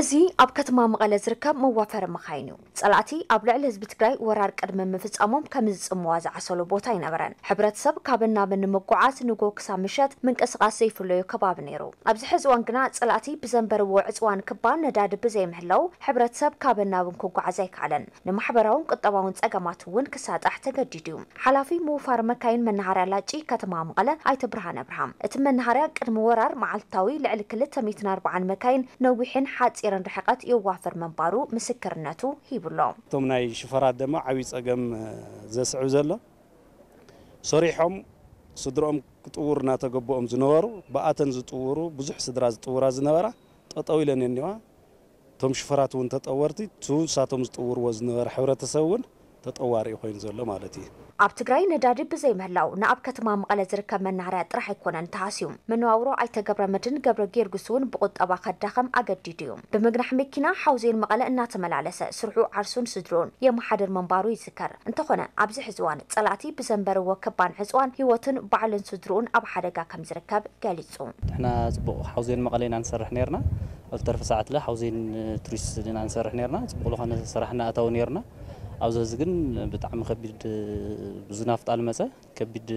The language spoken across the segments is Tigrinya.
እዚ ኣብ ከተማ መቐለ ዝርከብ መዋፈሪ መኻይን እዩ። ጸላእቲ ኣብ ልዕሊ ህዝቢ ትግራይ ወራር ቅድሚ ምፍጻሞም ከም ዝጽምዋ ዝዓሰሉ ቦታ ኣይነበረን። ሕብረተሰብ ካብን ናብን ንምጉዓዝ ንጎ ክሳብ ምሸት ምንቅስቓስ ዘይፍለዮ ከባቢ ነይሩ። ኣብዚ ሕዚ እዋን ግና ጸላእቲ ብዘንበርዎ ዕጽዋን ክባን ነዳዲ ብዘይምህላው ሕብረተሰብ ካብን ናብን ክጓዓዝ ኣይከኣለን። ንማሕበራውን ቁጠባውን ጸገማት እውን ክሳጣሕ ተገዲዱ እዩ። ሓላፊ ምውፋር መካይን መናሃርያ ላጪ ከተማ መቐለ ኣይተ ብርሃን ኣብርሃም፣ እቲ መናሃርያ ቅድሚ ወራር መዓልታዊ ልዕሊ ክልተ ሚእትን ኣርባዓን መካይን ነዊሕን ሓጺርን ርሕቀት የዋፍር ምንባሩ ምስክርነቱ ሂቡሎ። እቶም ናይ ሽፈራት ድማ ዓብዪ ጸገም ዘስዕብ ዘሎ፣ ሰሪሖም ስድርኦም ክጥውሩ እናተገበኦም ዝነበሩ፣ ብኣተን ዝጥውሩ፣ ብዙሕ ስድራ ዝጥውራ ዝነበራ ጠጠው ኢለን እኒዋ። እቶም ሽፈራት እውን ተጠወርቲ፣ እቱ ንሳቶም ዝጥውርዎ ዝነበረ ሕብረተሰብ እውን ተጠዋሪ ኮይኑ ዘሎ ማለት እዩ። ኣብ ትግራይ ነዳዲ ብዘይምህላው ንኣብ ከተማ መቐለ ዝርከብ መናሃርያ ጥራሕ ኣይኮነን ተሃስዩ። መነባብሮ ኣይተ ገብረመድህን ገብረ ጊዮርጊስ እውን ብቁጠባ ከዳኸም ኣገዲዱ እዩ። ብምግናሕ መኪና ሓውዜን መቐለ እናተመላለሰ ስርሑ ዓርሱን ስድርኡን የመሓድር ምንባሩ ይዝከር። እንተኾነ ኣብዚ ሕዚ እዋን ጸላእቲ ብዘንበርዎ ክባን ዕጽዋን ህይወትን ባዕሉን ስድርኡን ኣብ ሓደጋ ከም ዝርከብ ገሊጹ። ንሕና ጽቡቕ ሓውዜን መቐለ ኢና ንሰርሕ ነርና። ኣብ ዝተርፈ ሰዓት ለ ሓውዜን ቱሪስት ኢና ንሰርሕ ነርና። ጽቡቕ ዝኾነ ስራሕ እናኣታው ነርና። ኣብዚ ሕዚ ግን ብጣዕሚ ከቢድ፣ ብዙ ናፍጣ ልመጸ ከቢድ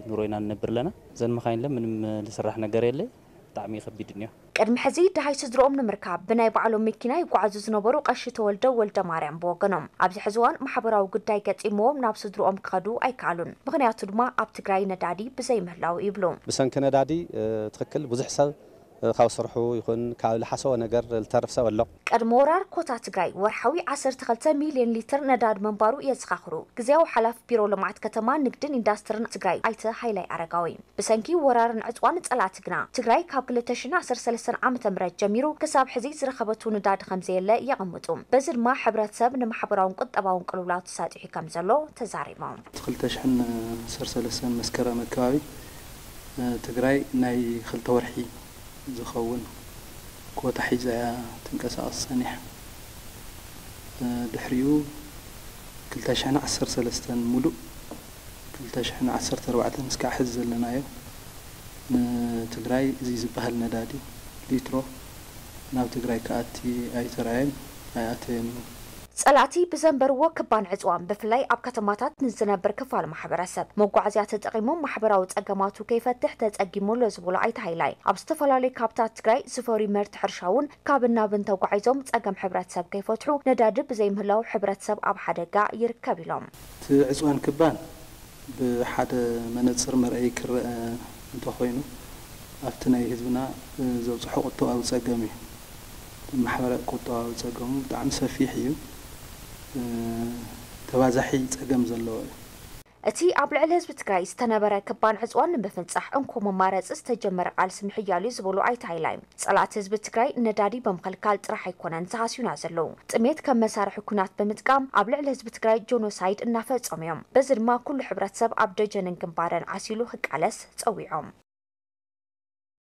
ኑሮ ኢና ንነብር ኣለና። ዘን መኻይን ለ ምንም ልስራሕ ነገር የለ። ብጣዕሚ ከቢድ እኒኦ። ቅድሚ ሕዚ ደሃይ ስድርኦም ንምርካብ ብናይ ባዕሎም መኪና ይጓዓዙ ዝነበሩ ቀሺ ተወልደ ወልደ ማርያም ብወገኖም፣ ኣብዚ ሕዚ እዋን ማሕበራዊ ጉዳይ ገጢምዎም ናብ ስድርኦም ክኸዱ ኣይከኣሉን። ምኽንያቱ ድማ ኣብ ትግራይ ነዳዲ ብዘይምህላው ይብሉ። ብሰንኪ ነዳዲ፣ እ፣ ትኽክል ብዙሕ ሰብ፣ እ፣ ካብ ስርሑ ይኹን ካብ ልሓሰቦ ነገር ልተርፍ ሰብ ኣሎ። ቅድሚ ወራር ኮታ ትግራይ ወርሓዊ ዓሰርተ ክልተ ሚልዮን ሊትር ነዳዲ ምንባሩ የዘኻኽሩ ግዝያዊ ሓላፊ ቢሮ ልምዓት ከተማ፣ ንግድን ኢንዳስትርን ትግራይ ኣይተ ሃይላይ ኣረጋዊ። ብሰንኪ ወራርን ዕጽዋን ጸላእቲ ግና ትግራይ ካብ ክልተ ሽሕን ዓሰርተ ሰለስተን ዓመተ ምህረት ጀሚሩ ክሳብ ሕዚ ዝረኸበቱ ነዳዲ ከም ዘየለ የቐምጡ። በዚ ድማ ሕብረተሰብ ንማሕበራውን ቁጠባውን ቅልውላው ተሳጢሑ ከም ዘሎ ተዛሪቦም። ክልተ ሽሕን ዓሰርተ ሰለስተን መስከረም ኣከባቢ፣ እ፣ ትግራይ ናይ ክልተ ወርሒ ዝኸውን ኮታ ሒዛ እያ ትንቀሳቐስ ጸኒሓ። እ፣ ድሕሪኡ ክልተ ሽሕን ዓሰርተ ሰለስተን ሙሉእ ክልተ ሽሕን ዓሰርተ ኣርባዕተን እስካዕ ሕዚ ዘለናዮ ንትግራይ እዚ ዝበሃል ነዳዲ ሊትሮ ናብ ትግራይ ክኣቲ ኣይተራእየን፣ ኣይኣተየን እውን። ጸላእቲ ብዘንበርዎ ክባን ዕጽዋን ብፍላይ ኣብ ከተማታት ንዝነብር ክፋል ማሕበረሰብ መጓዓዝያ ተጠቒሞም ማሕበራዊ ጸገማቱ ከይፈትሕ ተጸጊሙ ኣሎ ዝበሉ ኣይተ ሃይላይ፣ ኣብ ዝተፈላለዩ ካብታት ትግራይ ዝፈርዩ ምህርቲ ሕርሻ እውን ካብን ናብን ተጓዒዞም ጸገም ሕብረተሰብ ከይፈትሑ ነዳዲ ብዘይምህላው ሕብረተሰብ ኣብ ሓደጋ ይርከብ ኢሎም። እቲ ዕፅዋን ክባን ብሓደ መነፅር መርኣዪ ክረአ እንተኾይኑ፣ ኣብቲ ናይ ህዝብና ዘብፅሖ ቁጠባዊ ፀገም እዩ። ማሕበረ ቁጠባዊ ፀገሙ ብጣዕሚ ሰፊሕ እዩ። ተባዛሒ ፀገም ዘለዎ እዩ። እቲ ኣብ ልዕሊ ህዝቢ ትግራይ ዝተነበረ ክባን ዕፅዋን ንምፍንፃሕ እንኮ መማረፂ ዝተጀመረ ቃልሲ ምሕያል እዩ ዝበሉ ኣይተ ሃይላይ፣ ፀላእቲ ህዝቢ ትግራይ ነዳዲ ብምኽልካል ጥራሕ ኣይኮነን ዝሃስዩና ዘለዉ፣ ጥሜት ከም መሳርሒ ኩናት ብምጥቃም ኣብ ልዕሊ ህዝቢ ትግራይ ጆኖሳይድ እናፈፀሙ እዮም። በዚ ድማ ኩሉ ሕብረተሰብ ኣብ ደጀንን ግንባርን ዓሲሉ ክቃለስ ፀዊዖም።